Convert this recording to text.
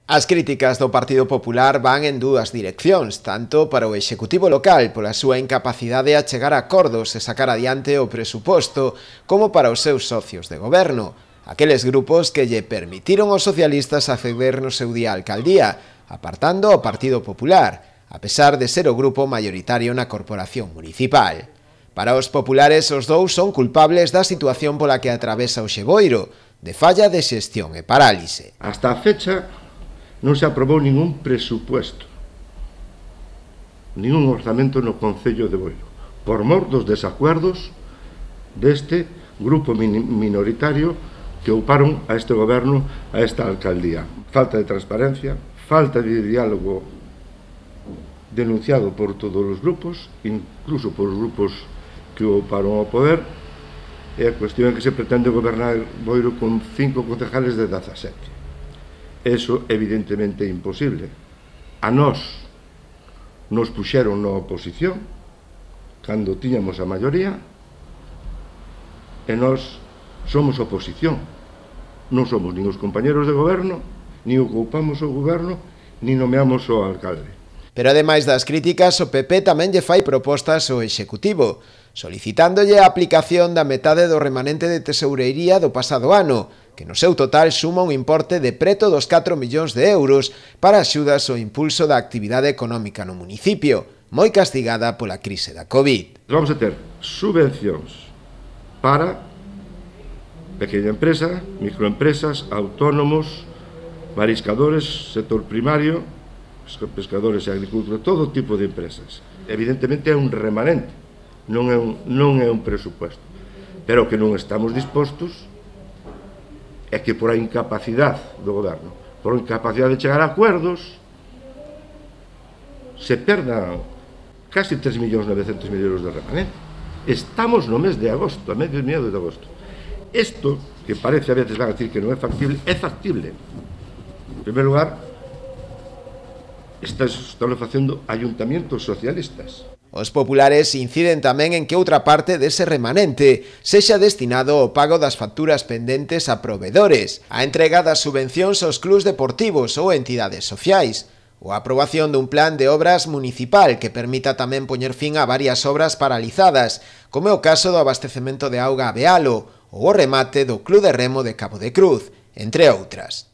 As críticas do Partido Popular van en dúas direccións, tanto para o Executivo local pola súa incapacidade a chegar a acordos e sacar adiante o presuposto, como para os seus socios de goberno, aqueles grupos que lle permitiron aos socialistas acceder no seu día á alcaldía, apartando ao Partido Popular, a pesar de ser o grupo maioritario na corporación municipal. Para os populares, os dous son culpables da situación pola que atravesa o Xeboiro, de falla de xestión e parálise. Hasta a fecha non se aprobou ningún presupuesto, ningún orzamento no Concello de Boiro, por mor dos desacuerdos deste grupo minoritario que ocuparon a este goberno, a esta alcaldía. Falta de transparencia, falta de diálogo denunciado por todos os grupos, incluso por os grupos que ocuparon o poder, e a cuestión é que se pretende gobernar Boiro con 5 concejales de 17. Eso evidentemente é imposible. A nós nos puxeron na oposición cando tiñamos a maioría e nós somos oposición. Non somos nin os compañeros de goberno, nin ocupamos o goberno, nin nomeamos o alcalde. Pero ademais das críticas, o PP tamén lle fai propostas ao Executivo, solicitándolle a aplicación da metade do remanente de tesourería do pasado ano, que no seu total suma un importe de preto dos 4 millóns de euros para axudas ao impulso da actividade económica no municipio, moi castigada pola crise da Covid. Vamos a ter subvencións para pequena empresa, microempresas, autónomos, mariscadores, sector primario, pescadores e agricultura, todo tipo de empresas. Evidentemente é un remanente, non é un presupuesto, pero que non estamos dispostos é que por a incapacidade do goberno, por a incapacidade de chegar a acuerdos, se perdan casi 3.900.000 euros de remanente. Estamos no mes de agosto, a medio de agosto. Isto, que parece a veces van a decir que non é factible, é factible. En primeiro lugar, están facendo ayuntamientos socialistas. Os populares inciden tamén en que outra parte dese remanente sexa destinado ao pago das facturas pendentes a provedores, a entrega das subvencións aos clubs deportivos ou entidades sociais, ou a aprobación dun plan de obras municipal que permita tamén poñer fin a varias obras paralizadas, como é o caso do abastecemento de auga a Bealo ou o remate do Club de Remo de Cabo de Cruz, entre outras.